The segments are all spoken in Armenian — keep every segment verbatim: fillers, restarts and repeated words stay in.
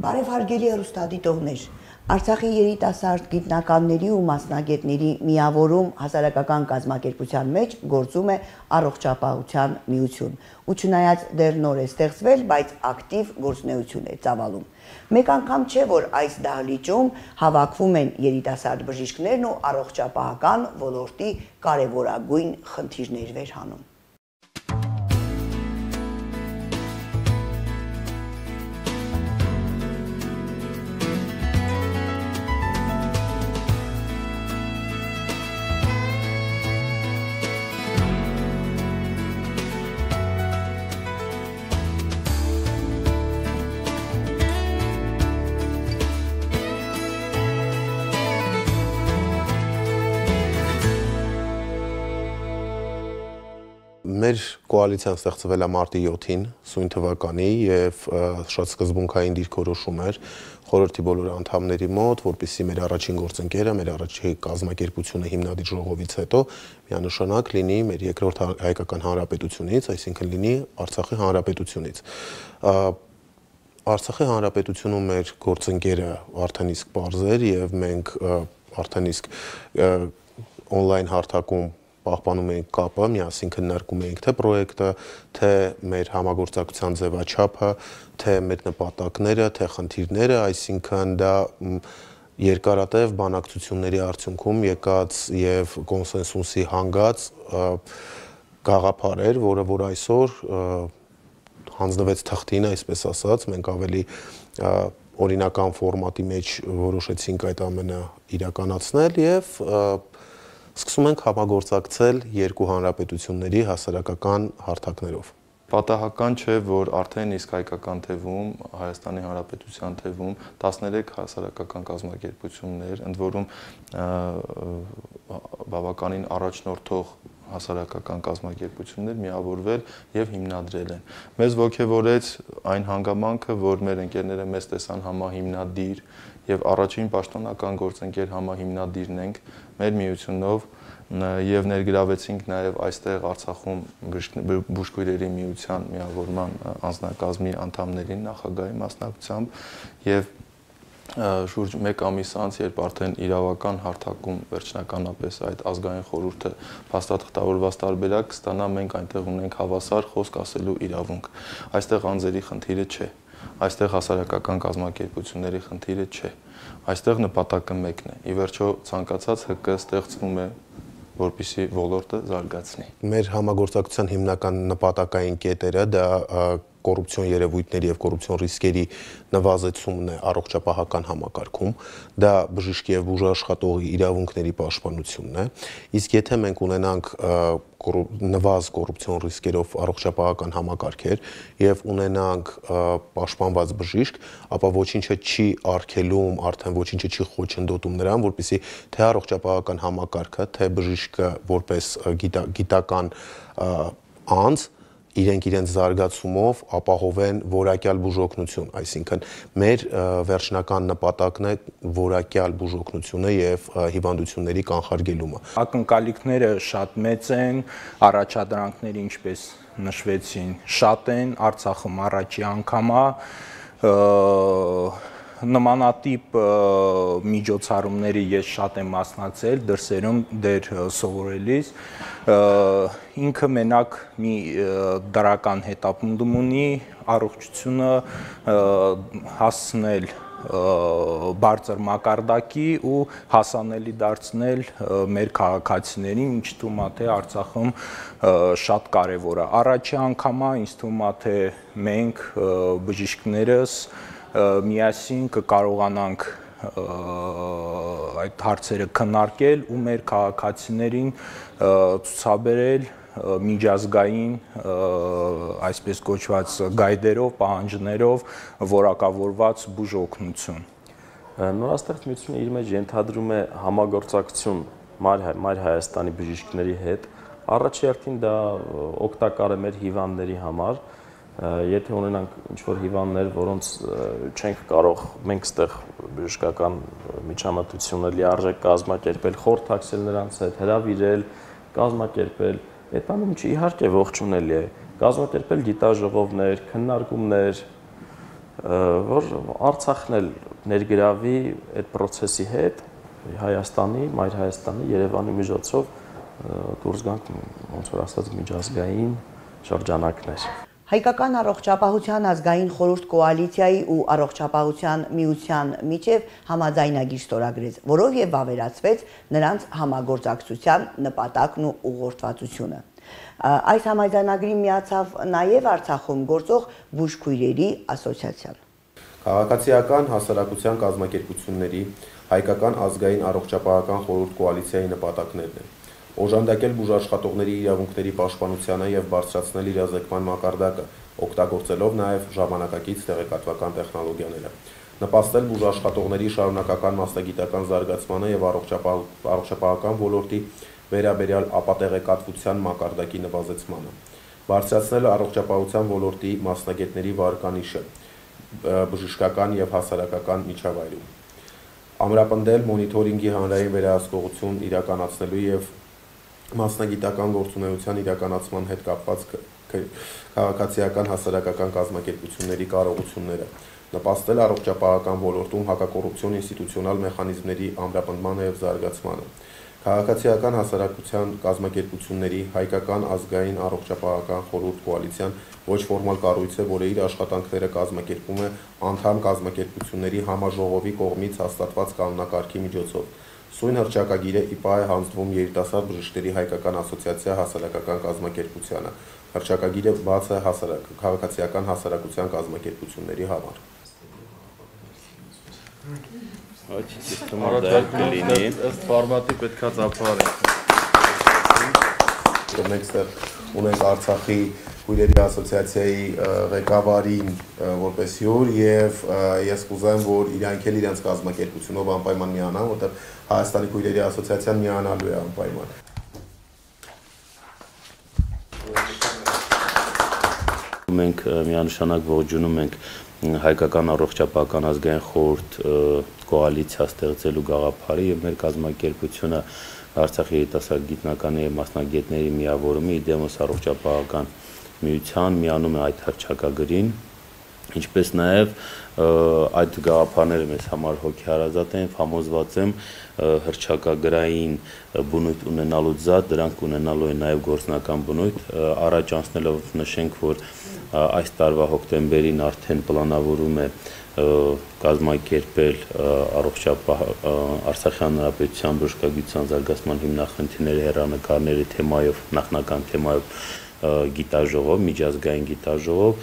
Բարեհարգելի հեռուստադիտողներ, Արցախի երիտասարդ գիտնականների ու մասնագետների միավորում հասարակական կազմակերպության մեջ գործում է առողջապահության միություն, ու չնայած դեռ նոր է ստեղծվել, բայց ակտիվ գործունեություն է ծավալում։ Մեկ անգամ չէ, որ այս դահլիճում հավաքվում են երիտասարդ բժիշկներն ու առողջապահական ոլորտի կարևորագույն խնդիրներ վերհանում։ Մեր կոալիցիան ստեղծվել է մարտի յոթին սույն թվականի եւ շատ սկզբունքային դիրքորոշում էր խորհրդի բոլոր անդամների մոտ, որպեսզի մեր առաջին գործընկերը, մեր առաջին կազմակերպությունը հիմնադիր ժողովից հետո միանշանակ լինի մեր երկրորդ հայկական հանրապետությունից, այսինքն լինի Արցախի հանրապետությունից։ Արցախի հանրապետությունում մեր գործընկերը արդեն իսկ պարզ էր եւ մենք արդեն իսկ on-line հարթակում պահպանում էինք կապը, միասին քննարկում էինք թե պրոյեկտը, թե մեր համագործակցության ձևաչափը, թե մեր նպատակները, թե խնդիրները, այսինքն դա երկարատև բանակցությունների արդյունքում եկած եւ կոնսենսուսի հանգած գաղափար էր, որը որ այսօր հանձնվեց թղթին, այսպես ասած, մենք ավելի օրինական ֆորմատի մեջ որոշեցինք այդ ամենը իրականացնել եւ սկսում ենք համագործակցել երկու հանրապետությունների հասարակական հարթակներով։ Պատահական չէ, որ արդեն իսկ հայկական թևում, Հայաստանի Հանրապետության թևում տասներեք հասարակական կազմակերպություններ, ընդ որում բավականին առաջնորդող հասարակական կազմակերպություններ միավորվել եւ հիմնադրել են։ Մեզ ոգևորեց այն հանգամանքը, որ մեր ընկերները մեզ տեսան համահիմնադիր եւ առաջին պաշտոնական գործընկեր համահիմնադիրն ենք մեր միությունով եւ ներգրավեցինք նաեւ այստեղ Արցախում բուժքույրերի միության միավորման անձնակազմի անդամներին նախագահի մասնակցությամբ եւ շուրջ մեկ ամիս անց, երբ արդեն իրավական հարթակում վերջնականապես այդ ազգային խորհուրդը փաստաթղթավորված տարբերակ կստանա, մենք այնտեղ ունենք հավասար խոսք ասելու իրավունք։ Այստեղ անձերի խնդիրը չէ, այստեղ հասարակական կազմակերպությունների խնդիրը չէ, այստեղ նպատակը մեկն է։ Ի վերջո ցանկացած ՀԿ ստեղծվում է, որպեսզի ոլորտը զարգացնի։ Մեր համագործակցության հիմնական նպատակային կետերը դա կոռուպցիոն երևույթների եւ կոռուպցիոն ռիսկերի նվազեցումն է առողջապահական համակարգում, դա բժիշկի եւ բուժաշխատողի իրավունքների պաշտպանությունն է, իսկ եթե մենք ունենանք նվազ կոռուպցիոն ռիսկերով առողջապահական համակարգեր եւ ունենանք պաշտպանված բժիշկ, ապա ոչինչը չի արգելում, արդեն ոչինչը չի խոչընդոտում նրան, որպեսզի թե առողջապահական համակարգը, թե բժիշկը որպես գիտական անձ իրենք իրենց զարգացումով ապահովեն որակյալ բուժօգնություն, այսինքն մեր վերջնական նպատակն է որակյալ բուժօգնությունը եւ հիվանդությունների կանխարգելումը։ Ակնկալիքները շատ մեծ են, առաջադրանքները, ինչպես նշվեցին, շատ են, Արցախում առաջի անգամ է նմանատիպ միջոցառումների ես շատ եմ մասնակցել դրսերում դեր սովորելիս, ինքը մենակ մի դրական հետապնդում ունի առողջությունը հասցնել բարձր մակարդակի ու հասանելի դարձնել մեր քաղաքացիներին, ինչ թվում է թե Արցախում շատ կարևոր է։ Առաջի անգամ է, ինձ թվում է թե մենք բժիշկներս միասին կկարողանանք այդ հարցերը քննարկել ու մեր քաղաքացիներին ցուցաբերել միջազգային այսպես կոչված գայդերով, պահանջներով որակավորված բուժօգնություն։ Նորաստեղծ միությունը իր մեջ ենթադրում է համագործակցություն Մայր Հայաստանի բժիշկների հետ։ Առաջի հերթին դա օգտակար է մեր հիվանդների համար։ Եթե ունենանք ինչ-որ հիվանդներ, որոնց չենք կարող մենք ստեղ բժշկական միջամտությունը լիարժեք կազմակերպել, խորհրդակցել նրանց հետ, հրավիրել, կազմակերպել, այդ ամենը իհարկե ողջունելի է, կազմակերպել գիտաժողովներ, քննարկումներ, որ Արցախն էլ ներգրավի այդ process-ի հետ Հայաստանի, Մայր Հայաստանի, Երևանի միջոցով դուրս գանք ոնց որ ասած միջազգային շրջանակներ։ Հայկական առողջապահության ազգային խորհուրդ կոալիցիայի ու առողջապահության միության միջև համաձայնագիր ստորագրեց, որով եւ վավերացվեց նրանց համագործակցության նպատակն ու ուղղորդվածությունը։ Այս համաձայնագրին միացավ նաեւ Արցախում գործող բուժքույրերի ասոցիացիան։ Քաղաքացիական հասարակության կազմակերպությունների հայկական ազգային առողջապահական խորհուրդ կոալիցիայի նպատակներն են օժանդակել բուժաշխատողների իրավունքների պաշտպանությանը եւ բարձրացնել իրազեկման մակարդակը, օգտագործելով նաեւ ժամանակակից տեղեկատվական տեխնոլոգիաները, նպաստել բուժաշխատողների շարունակական մասնագիտական զարգացմանը եւ առողջապահական ոլորտի վերաբերյալ ապատեղեկատվության մակարդակի նվազեցմանը, բարձրացնել առողջապահության ոլորտի մասնագետների վարկանիշը բժշկական եւ հասարակական միջավայրում, ամրապնդել մոնիթորինգի հանրային վերահսկողություն իրականացնելու եւ մասնագիտական գործունեության իրականացման հետ կապված քաղաքացիական հասարակական կազմակերպությունների կարողությունները, նպաստել առողջապահական ոլորտում հակակոռուպցիոն ինստիտուցիոնալ մեխանիզմների ամրապնդմանը եւ զարգացմանը, քաղաքացիական հասարակության կազմակերպությունների հայկական ազգային առողջապահական խորհուրդ կոալիցիան ոչ ֆորմալ կառույց է, որը իր աշխատանքները կազմակերպում է անդամ կազմակերպությունների համաժողովի կողմից հաստատված կանոնակարգի միջոցով։ Սույն հռչակագիրը ի պահ է հանձնվում երիտասարդ բժիշկների հայկական ասոցիացիա հասարակական կազմակերպությանը։ Հռչակագիրը բաց է հասարակ քաղաքացիական հասարակության կազմակերպությունների համար։ Այդ սիստեմը դա կլինի, ըստ ֆորմատի պետքա ծափարենք։ Մենք ստեղ ունենք Արցախի քույրերի ասոցիացիայի ղեկավարին որպես հյուր եւ ես կուզեմ, որ իրանք էլ իրենց կազմակերպությունով անպայման միանան, որտեղ Հայաստանի քույրերի ասոցիացիան միանալու է անպայման։ Մենք միանշանակ ողջունում ենք հայկական առողջապահական ազգային խորհուրդ կոալիցիա ստեղծելու գաղափարը եւ մեր կազմակերպությունը Արցախի երիտասարդ գիտնականների եւ մասնագետների միավորումը իդեմոս առողջապահական միության միանում է այդ հռչակագրին, ինչպես նաեւ այդ գաղափարները մեզ համար հոգեհարազատ են, համոզված եմ հռչակագրային բնույթ ունենալուց զատ դրանք ունենալու են նաեւ գործնական բնույթ, առաջ անցնելով նշենք, որ այս տարվա հոկտեմբերին արդեն պլանավորում է կազմակերպել առողջապահ Արցախի հանրապետության բժշկագիտության զարգացման հիմնախնդիրների հեռանկարների թեմայով, նախնական թեմայով գիտաժողով, միջազգային գիտաժողով,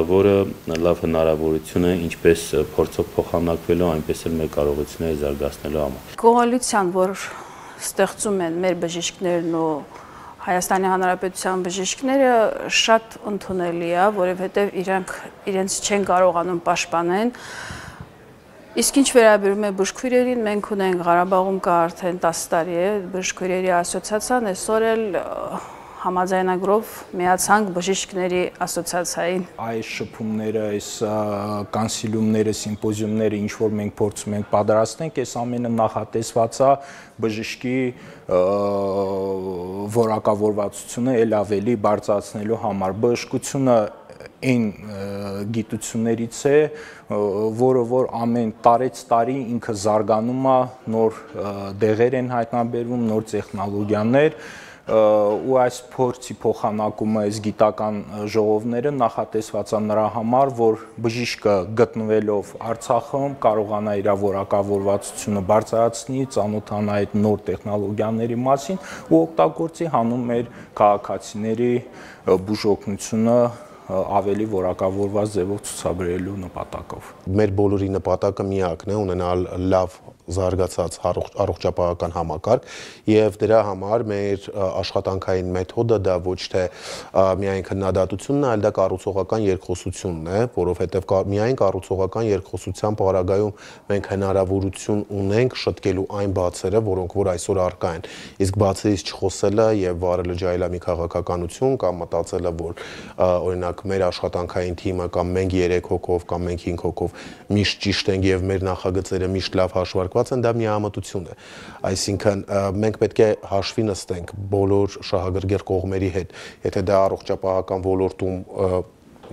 որը լավ հնարավորություն է ինչպես փորձով փոխանակվելու, այնպես էլ մեր կարողությունները զարգացնելու համար։ Կոալիցիան, որ ստեղծում են մեր բժիշկներն ու Հայաստանի Հանրապետության բժիշկները շատ ընդունելի է, որովհետև իրանք իրենց չեն կարողանում պաշտպանել։ Իսկ ինչ վերաբերում է բժշկուհիներին, մենք ունենք Ղարաբաղում կա արդեն տասը տարի է բժշկուհիների ասոցիացիան, այսօր էլ համաձայնագրով միացանք բժիշկների ասոցիացիային։ Այս շփումները, այս կանսիլիումները, սիմպոզիումները, ինչ որ մենք փորձում ենք պատրաստենք, այս ամենը նախատեսված է բժշկի որակավորվածությունը ել ավելի բարձրացնելու համար։ Բժշկությունը այն գիտություններից է, որը որ ամեն տարեց տարի ինքը զարգանում է, նոր դեղեր են հայտնաբերվում, նոր տեխնոլոգիաներ, ու այս փորձի փոխանակումը, այս գիտական ժողովները նախատեսված է նրա համար, որ բժիշկը գտնվելով Արցախում կարողանա իր որակավորվածությունը բարձրացնի, ծանոթանա այդ նոր տեխնոլոգիաների մասին ու օգտագործի հանուն մեր քաղաքացիների բուժօգնությունը ավելի որակավորված ձևով ցուցաբերելու նպատակով։ Մեր բոլորի նպատակը միակն է ունենալ լավ զարգացած առողջապահական համակարգ եւ դրա համար մեր աշխատանքային մեթոդը դա ոչ թե միայն քննադատությունն է, այլ դա կառուցողական երկխոսությունն է, որովհետեւ միայն կառուցողական երկխոսության պարագայում մենք հնարավորություն ունենք շտկելու այն բացերը, որոնք որ այսօր առկա են։ Իսկ բացերից չխոսելը եւ վարելը ջայլամի քաղաքականություն կամ մտածելը, որ օրինակ մեր աշխատանքային թիմը կամ մենք երեք հոգով կամ մենք հինգ հոգով միշտ ճիշտ ենք եւ մեր նախագծերը միշտ լավ հաշվարկված են, դա միամտություն է։ Այսինքն մենք պետք է հաշվի նստենք բոլոր շահագրգիռ կողմերի հետ, եթե դա առողջապահական ոլորտում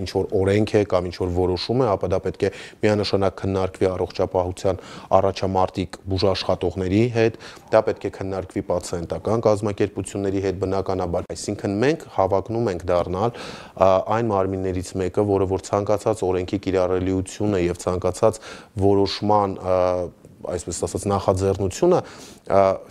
ինչ որ օրենք է կամ ինչ որ որոշում է, ապա դա պետք է միանշանակ քննարկվի առողջապահության առաջամարտիկ բուժաշխատողների հետ, դա պետք է քննարկվի պացիենտական կազմակերպությունների հետ բնականաբար։ Այսինքն մենք հավակնում ենք դառնալ այն մարմիններից մեկը, որը որ ցանկացած օրենքի կիրառելիությունը եւ ցանկացած որոշման այսպես ասած նախաձեռնությունը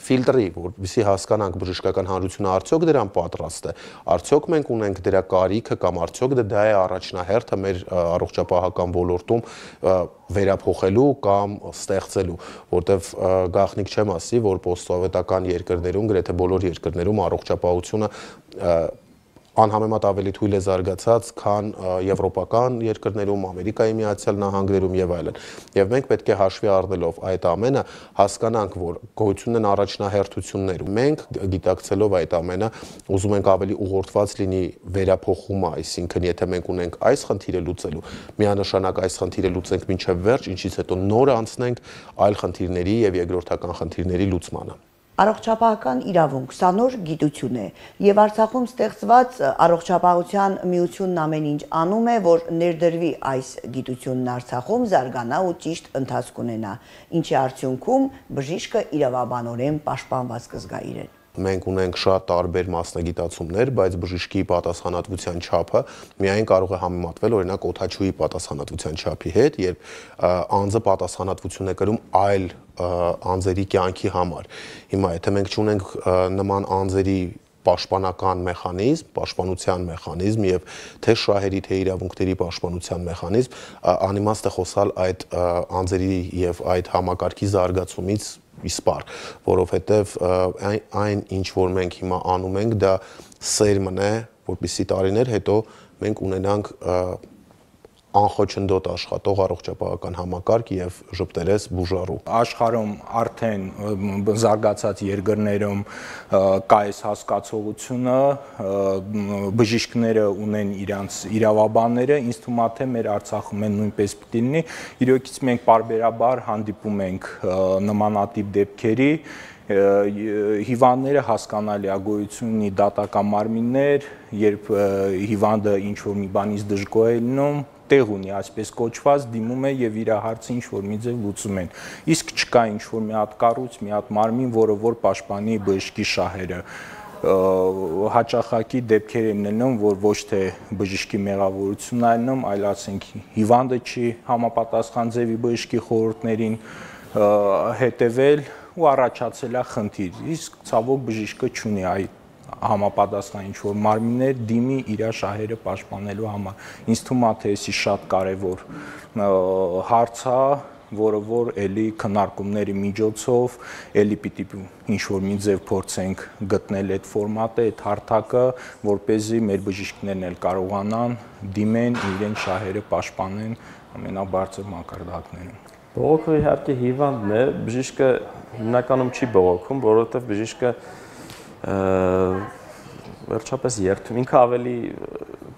ֆիլտրի, որպեսզի հասկանանք բժշկական հանրությունը արդյոք դրան պատրաստ է, արդյոք մենք ունենք դրա կարիքը կամ արդյոք դա է առաջնահերթը մեր առողջապահական ոլորտում վերափոխելու կամ ստեղծելու, որտեվ գաղտնիք չեմ ասի, որ պոստսովետական երկրներում, գրեթե բոլոր երկրներում առողջապահությունը անհամեմատ ավելի թույլ է զարգացած, քան եվրոպական երկրներում, Ամերիկայի Միացյալ Նահանգներում եւ այլն։ Եվ մենք պետք է հաշվի առնելով այդ ամենը հասկանանք, որ գոյություն են առաջնահերթություններ։ Մենք գիտակցելով այդ ամենը, ուզում ենք ավելի ուղղորդված լինի վերափոխումը, այսինքն եթե մենք ունենք այս խնդիրը լուծելու, միանշանակ այս խնդիրը լուծենք մինչև վերջ, ինչից հետո նոր անցնենք այլ խնդիրների եւ երկրորդական խնդիրների լուծմանը։ Առողջապահական իրավունք սա նոր գիտություն է եւ Արցախում ստեղծված առողջապահության միությունն ամեն ինչ անում է, որ ներդրվի այս գիտությունն Արցախում, զարգանա ու ճիշտ ընթացք ունենա, ինչի արդյունքում բժիշկը իրավաբանորեն պաշտպանված կզգա իրեն։ Մենք ունենք շատ տարբեր մասնագիտացումներ, բայց բժշկի պատասխանատվության չափը միայն կարող է համեմատվել օրինակ օդաչուի պատասխանատվության չափի հետ, երբ անձը պատասխանատվություն է կրում այլ անձերի կյանքի համար։ Հիմա եթե մենք չունենք նման անձերի պաշտպանական մեխանիզմ, պաշտպանության մեխանիզմ եւ թե շահերի, թե իրավունքների պաշտպանության մեխանիզմ, անիմաստ է խոսալ այդ անձերի եւ այդ համակարգի զարգացումից իսպար, որովհետև այն ինչ որ մենք հիմա անում ենք, դա սերմն է, որպեսզի տարիներ հետո մենք ունենանք անխոչնդոտ աշխատող առողջապահական համակարգ եւ ժպտերես բուժառու։ Աշխարհում արդեն զարգացած երկրներում կա այս հասկացողությունը, բժիշկները ունեն իրենց իրավաբանները, ինձ թվում է թե մեր Արցախում են նույնպես պիտի լինի։ Իրոքից մենք պարբերաբար հանդիպում ենք նմանատիպ դեպքերի, հիվանդները հասկանալի է գոյություն ունի դատական մարմիններ, երբ հիվանդը ինչ որ մի բանից դժգոհ է լինում, տեղ ունի այսպես կոչված, դիմում է եւ իր հարցը ինչ որ մի ձև լուծում են։ Իսկ չկա ինչ որ մի հատ կառույց, մի հատ մարմին, որը որ պաշտպանի բժշկի շահերը։ Հաճախակի դեպքեր են լինում, որ ոչ թե բժշկի մեղավորությունն է լինում, այլ ասենք հիվանդը չի համապատասխան ձևի բժշկի խորհուրդներին հետևել ու առաջացել է խնդիր։ Իսկ ցավոք բժիշկը չունի այդ համապատասխան ինչ որ մարմիններ դիմի իր շահերը պաշտպանելու համար։ Ինձ թվում է թե էսի շատ կարևոր հարց է, որը որ էլի քննարկումների միջոցով էլի պիտի ինչ որ մի ձև փորձենք գտնել այդ ֆորմատը, այդ հարթակը, որ เป զի մեր բժիշկներն էլ կարողանան դիմեն իրեն շահերը պաշտպանեն ամենաբարձր մակարդակներում։ Բողոքը իհարկե հիվանդն է, բժիշկը հիմնականում չի բողոքում, որովհետև բժիշկը վերջապես երթում, ինքը ավելի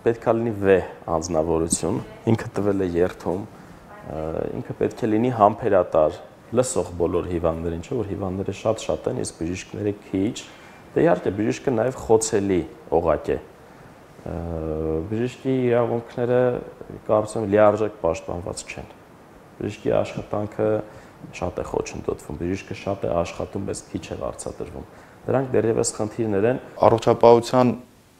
պետք է լինի վեհ անձնավորություն, ինքը տվել է երթում, ինքը պետք է լինի համբերատար, լսող բոլոր հիվանդներին, չէ՞ որ հիվանդները շատ-շատ են, իսկ բժիշկները քիչ, դե իհարկե բժիշկը նաև խոցելի օղակ է։ Բժիշկի իրավունքները կարծում եմ լիարժեք պաշտպանված չեն։ Բժիշկի աշխատանքը շատ է խոչընդոտվում, բժիշկը շատ է աշխատում, բայց քիչ է վարձատրվում։ Դրանք դեռևս խնդիրներ են։ Առողջապահության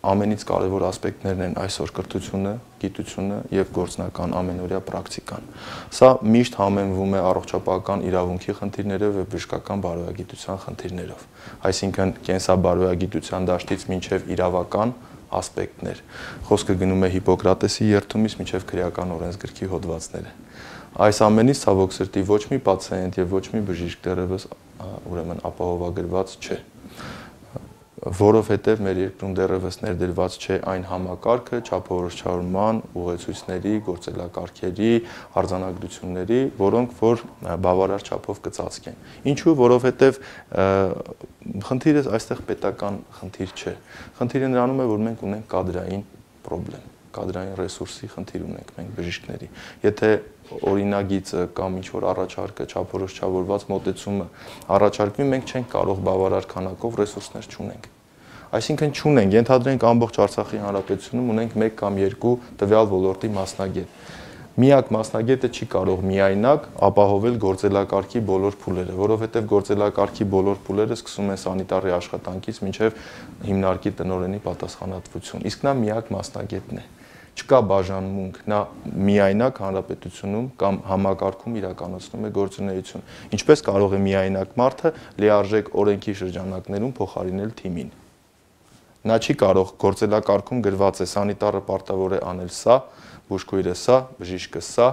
ամենից կարևոր ասպեկտներն են այսօր կրթությունը, գիտությունը եւ գործնական ամենօրյա պրակտիկան։ Սա միշտ համեմվում է առողջապահական իրավունքի խնդիրներով եւ բժշկական բարոյագիտության խնդիրներով։ Այսինքն կենսաբարոյագիտության դաշտից մինչեւ իրավական ասպեկտներ։ Խոսքը գնում է Հիպոկրատեսի երթումից մինչեւ քրեական օրենսգրքի հոդվածները։ Այս ամենից ցավոք սրտի ոչ մի պացիենտ եւ ոչ մի բժիշկ դեռևս ուրեմն ապահովագրված չէ, որովհետև մեր երկրում դեռևս ներդրված չէ այն համակարգը չափորոշչարման, ուղեցույցների, գործելակարգերի, արձանագրությունների, որոնք որ բավարար չափով կծածկեն։ Ինչու՞, որովհետև խնդիրը այստեղ պետական խնդիր չէ։ Խնդիրը նրանում է, որ մենք ունենք կադրային խնդիր, կադրային ռեսուրսի խնդիր ունենք մենք բժիշկների։ Եթե օրինագիծը կամ ինչ որ առաջարկը չափորոշչավորված մոտեցումը առաջարկվի, մենք չենք կարող բավարար քանակով ռեսուրսներ չունենք։ Այսինքն չունենք, ենթադրենք ամբողջ Արցախի հանրապետությունում ունենք մեկ կամ երկու տվյալ ոլորտի մասնագետ։ Միակ մասնագետը չի կարող միայնակ ապահովել գործելակարգի բոլոր փուլերը, որովհետև գործելակարգի բոլոր փուլերը սկսում են սանիտարի աշխատանքից մինչև հիմնարկի տնօրենի պատասխանատվություն։ Իսկ նա միակ մասնագետն է։ Չկա բաժանմունք, նա միայնակ հանրապետությունում կամ համակարգում իրականացնում է գործունեություն։ Ինչպես կարող է միայնակ մարդը լիարժեք օրենքի շրջանակներում փոխարինել թիմին։ Նա չի կարող գործելակարգում գրված է սանիտարը պարտավոր է անել սա, բուժքույրը սա, բժիշկը սա,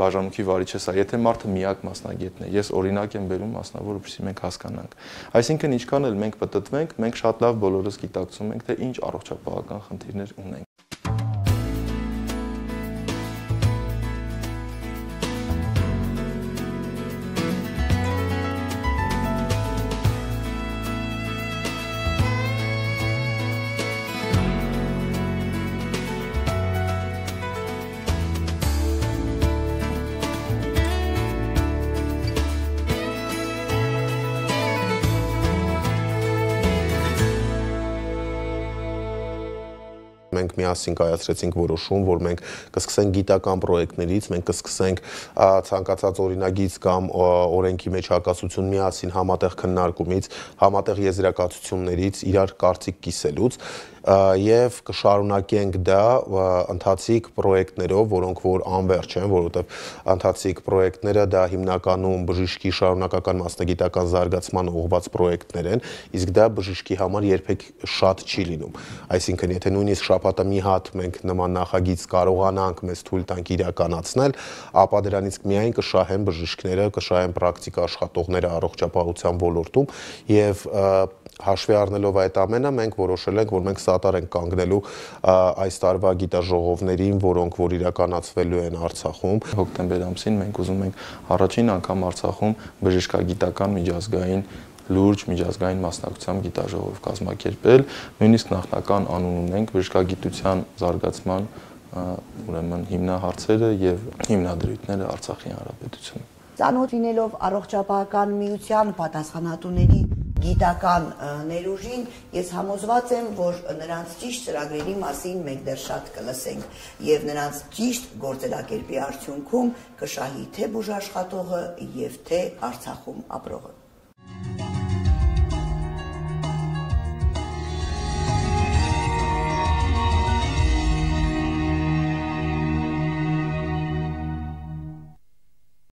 բաժանմունքի վարիչը սա, եթե մարդը միակ մասնագետն է։ Ես օրինակ եմ բերում մասնավոր, որպեսզի մենք հասկանանք։ Այսինքն ինչքան էլ մենք պտտվենք, մենք շատ լավ բոլորս գիտակցում ենք, թե ինչ առողջապահական խնդիրներ ունենք։ Մենք միասին կայացրեցինք որոշում, որ մենք կսկսենք գիտական պրոյեկտներից, մենք կսկսենք ցանկացած օրինագիծ կամ օրենքի մեջ հակասություն միասին համատեղ քննարկումից, համատեղ եզրակացություններից, իրար կարծիք կիսելուց եւ կշարունակենք դա ընթացիկ պրոյեկտներով, որոնք որ անվերջ են, որովհետեւ ընթացիկ պրոյեկտները դա հիմնականում բժշկի շարունակական մասնագիտական զարգացման ուղղված պրոյեկտներ են, իսկ դա բժշկի համար երբեք շատ չի լինում։ Այսինքն, եթե նույնիսկ շաբաթը մի հատ մենք նման նախագիծ կարողանանք մեզ թույլ տանք իրականացնել, ապա դրանից միայն կշահեն բժիշկները, կշահեն պրակտիկ աշխատողները առողջապահության ոլորտում եւ հաշվի առնելով այդ ամենը, մենք որոշել ենք, որ մենք սատար ենք կանգնելու այս տարվա գիտաժողովներին, որոնք որ իրականացվելու են Արցախում։ Հոկտեմբեր ամսին մենք ուզում ենք առաջին անգամ Արցախում բժշկագիտական միջազգային լուրջ միջազգային մասնակցությամբ գիտաժողով կազմակերպել, նույնիսկ նախնական անուն ունենք բժշկագիտության զարգացման ուրեմն հիմնահարցերը եւ հիմնադրույթները Արցախի հանրապետությունում։ Ծանոթ լինելով առողջապահական միության պատասխանատուների գիտական ներուժին, ես համոզված եմ, որ նրանց ճիշտ ծրագրերի մասին մենք դեռ շատ կլսենք եւ նրանց ճիշտ գործելակերպի արդյունքում կշահի թե բուժաշխատողը եւ թե Արցախում ապրողը։